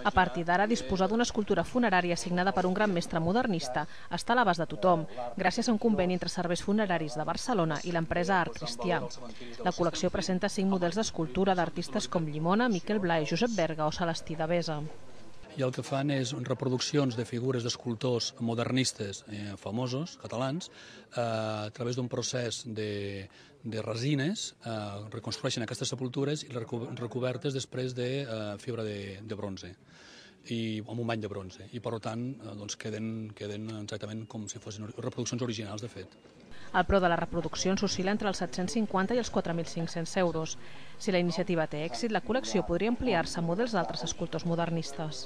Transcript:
A partir d'ara, disposar d'una escultura funerària signada per un gran mestre modernista està a l'abast de tothom, gràcies a un conveni entre serveis funeraris de Barcelona i l'empresa Art Cristià. La col·lecció presenta 5 models d'escultura d'artistes com Llimona, Miquel Blai, Josep Berga o Celestí Devesa. I el que fan és reproduccions de figures d'escultors modernistes famosos, catalans, a través d'un procés de resines, reconstrueixen aquestes sepultures i recobertes després de fibra de bronze, amb un bany de bronze, i per tant queden exactament com si fossin reproduccions originals, de fet. El preu de les reproduccions oscil·la entre els 750 i els 4.500 euros. Si la iniciativa té èxit, la col·lecció podria ampliar-se a models d'altres escultors modernistes.